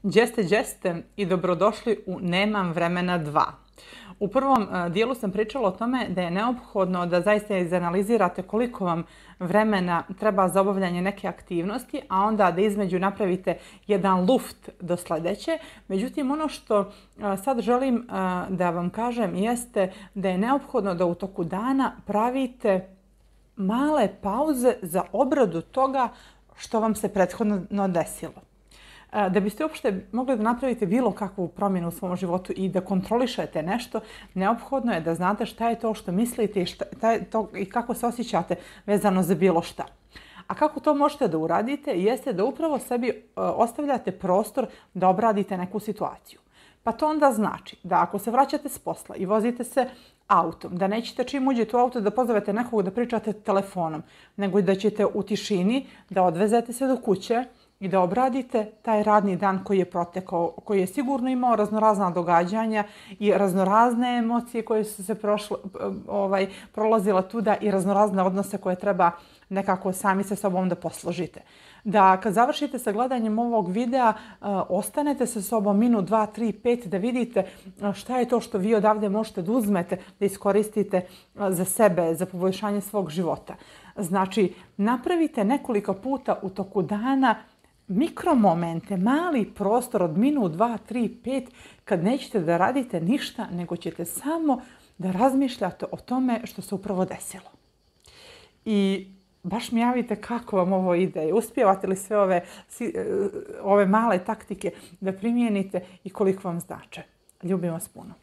Đeste i dobrodošli u Nemam vremena 2. U prvom dijelu sam pričala o tome da je neophodno da zaista izanalizirate koliko vam vremena treba za obavljanje neke aktivnosti, a onda da između napravite jedan luft do sljedeće. Međutim, ono što sad želim da vam kažem jeste da je neophodno da u toku dana pravite male pauze za obradu toga što vam se prethodno desilo. Da biste uopšte mogli da napravite bilo kakvu promjenu u svom životu i da kontrolišete nešto, neophodno je da znate šta je to što mislite i kako se osjećate vezano za bilo šta. A kako to možete da uradite jeste da upravo sebi ostavljate prostor da obradite neku situaciju. Pa to onda znači da ako se vraćate s posla i vozite se autom, da nećete čim uđete u auto da pozovete nekog da pričate telefonom, nego da ćete u tišini da odvezete se do kuće i da obradite taj radni dan koji je protekao, koji je sigurno imao raznorazna događanja i raznorazne emocije koje su se prolazile tuda i raznorazne odnose koje treba nekako sami sa sobom da posložite. Da kad završite sa gledanjem ovog videa, ostanete sa sobom minut, 2, 3, 5 da vidite šta je to što vi odavde možete da uzmete, da iskoristite za sebe, za poboljšanje svog života. Znači, napravite nekoliko puta u toku dana mikromomente, mali prostor od minut, 2, 3, 5 kad nećete da radite ništa, nego ćete samo da razmišljate o tome što se upravo desilo. I baš mi javite kako vam ovo ide. Uspijevate li sve ove male taktike da primijenite i koliko vam znače. Ljubim vas puno.